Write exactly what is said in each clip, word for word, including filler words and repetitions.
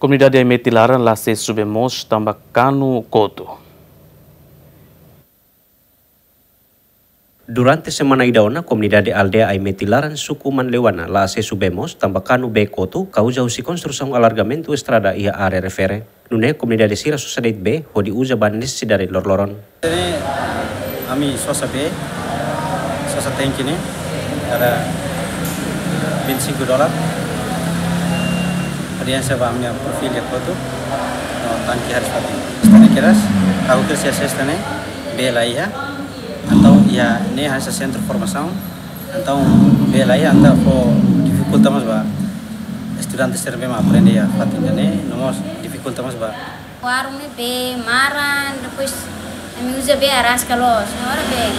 Komunidade Aimeti Laran la asesu bee moos tanba kanu kotu. Durante semana ida ona, komunidade aldeia Aimeti Laran, suku Manleuana, la asesu bee moos tanba kanu bee kotu, kauza husi konstrusaun alargamentu estrada iha área refere. Nune'e komunidade sira sosa de'it bee hodi uza ba nesesidade loroloron. Ne'e ami sosa bee, sosa tanke ne'e, kada vinte e cinco dólar. Audiénsia ba ami perfil ya kotu, no tanke harus fatin. Estani keras, aku kerja sesta ne'e, bee la iha, entaun iha ne'e hanesan sentru formasaun, entaun bee la iha, entaun fó difikulta mós ba estudante sira bee mak aprende iha fatin ne'e, no mós difikulta mós ba. Warung ne'e bee maran, depois ami uza bee araska loos. Agora bee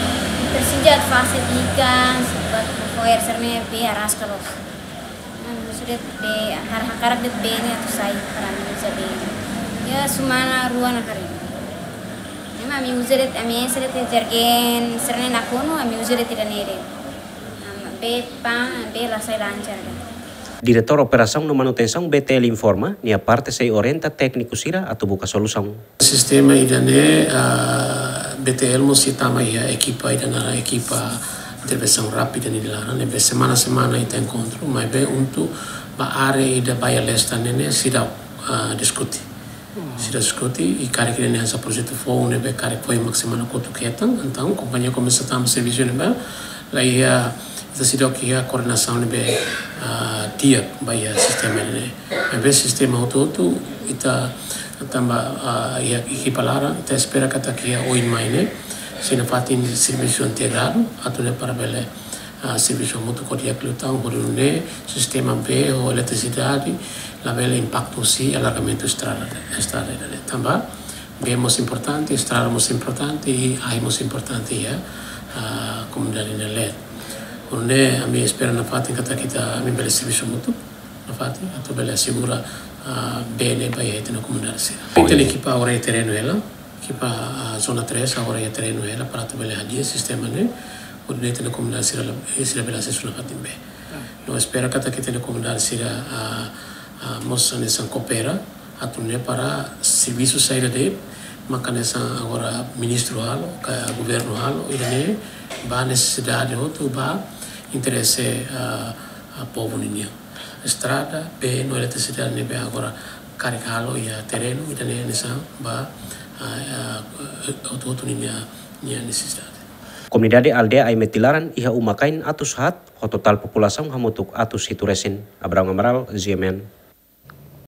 presiza atu fase ikan, buat fo'er sira ne'e bee araska loos. Ami uza de'it bee, hakarak de'it bee ne'e atu sai para ami uza bee. Ya, semana rua ona karik. Ne'e mak ami uza de'it, ami ese de'it jergen sira ne'e nakonu, ami uza de'it ida-ne'e de'it. Am, bee pan, bee la sai lancar de'it. Diretór Operasaun no Manutensaun B T L informa, nia parte sei orienta tékniku sira atu buka solusaun. Sistema ida-ne'e, ah, B T L mós sei tama iha ekipa ida naran ekipa intervensaun rápida nia laran, ne'ebé semana-semana ita enkontru, maibé untu ba área ida Baía Leste ne'e ne'e seidauk, ah, diskute. Seidauk diskute, i karik ida-ne'e hanesan projetu foun ne'ebé karik foin mak semana kotuk hetan, entaun kompañia komesa tama servisu ne'ebá, la iha, ita seidauk iha koordenasaun ne'ebé, ah, di'ak ba iha sistema ne'e. Maibé sistema hotu-hotu, ita tanba, ah, iha ekipa laran, ita espera katak iha oin mai ne'e sei nafatin servisu integradu, atu nune'e para bele, ah, servisu hamutuk ho di'ak liután, hodi nune'e sistema bee ho eletrisidade labele impaktu husi alargamentu estrada, estrada ida-ne'e. Tanba bee mós importante, estrada mós importante, i ahi mós importante iha, ah, komunidade nia leet. Nune'e ami espera nafatin katak ita, ami bele servisu hamutuk nafatin, atu bele asegura, ah, bee ne'e ba iha ita-nia komunidade sira. Ita-nia ekipa agora iha terrenu hela, ekipa, ah, zona três agora iha terrenu hela para atu bele hadi'a sistema ne'e, hodi nune'e ita-nia komunidade sira la, sira bele asesu nafatin bee. No espera katak ita-nia komunidade sira, ah, ah, mós hanesan koopera, atu nune'e para servisu saida de'it mak hanesan agora ministru halo, ka governu halo, ida-ne'e ba nesesidade hotu, ba interese, ah, ah, povu ninian. Estrada, bee no eletrisidade ne'ebé agora karik halo iha terrenu, ida-ne'e hanesan ba, ah, ah, hotu-hotu ninia, nia nesesidade. Komunidade aldeia Aimeti Laran iha uma-kain atus haat, ho totál populasaun hamutuk atus hitu resin. Abraham Amaral, G M N.